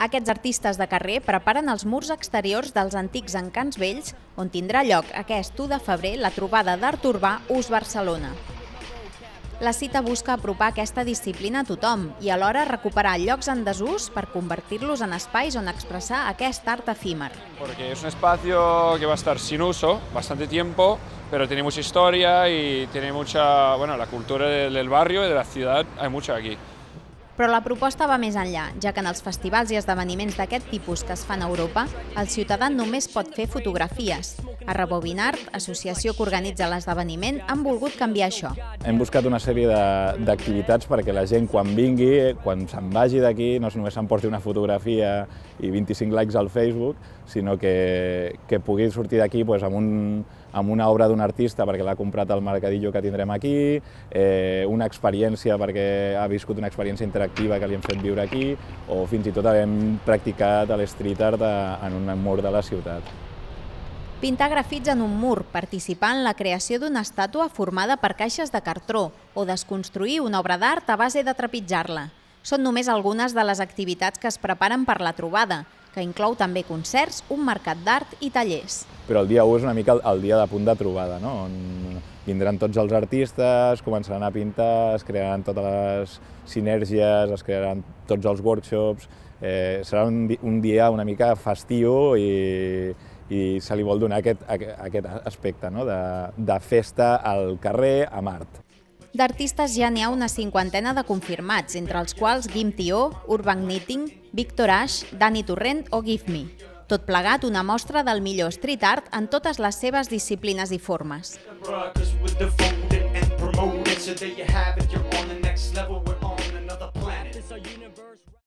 Aquests artistes de carrer preparen els murs exteriors dels antics encants vells, on tindrà lloc aquest 1 de febrer la trobada d'art urbà Ús Barcelona. La cita busca apropar aquesta disciplina a tothom i alhora recuperar llocs en desús per convertir-los en espais on expressar aquest art efímer. Porque es un espacio que va a estar sin uso bastante tiempo, pero tiene mucha historia y tiene mucha, bueno, la cultura del barrio y de la ciudad, hay mucho aquí. Però la proposta va més enllà, ja que en els festivals i esdeveniments d'aquest tipus que es fan a Europa, el ciutadà només pot fer fotografies. A Rebobinart, associació que organitza l'esdeveniment, han volgut canviar això. Hem buscat una sèrie d'activitats perquè la gent quan vingui, quan se'n vagi d'aquí, no només s'emporti una fotografia i 25 likes al Facebook, sinó que pugui sortir d'aquí amb una obra d'un artista perquè l'ha comprat al mercadillo que tindrem aquí, una experiència perquè ha viscut una experiència interactiva que li hem fet viure aquí, o fins i tot hem practicat l'street art en un mur de la ciutat. Pintar grafits en un mur, participar en la creació d'una estàtua formada per caixes de cartró o desconstruir una obra d'art a base de trepitjar-la. Són només algunes de les activitats que es preparen per la trobada, que inclou també concerts, un mercat d'art i tallers. Però el dia 1 és una mica el dia de punt de trobada, no? On vindran tots els artistes, començaran a pintar, es crearan totes les sinergies, es crearan tots els workshops. Serà un dia una mica festiu i se li vol donar aquest aspecte, no? De festa al carrer amb art. D'artistes ja n'hi ha una 50ena de confirmats, entre els quals Guim Tió, Urban Knitting, Víctor Ash, Dani Torrent o Give Me. Tot plegat una mostra del millor street art en totes les seves disciplines i formes.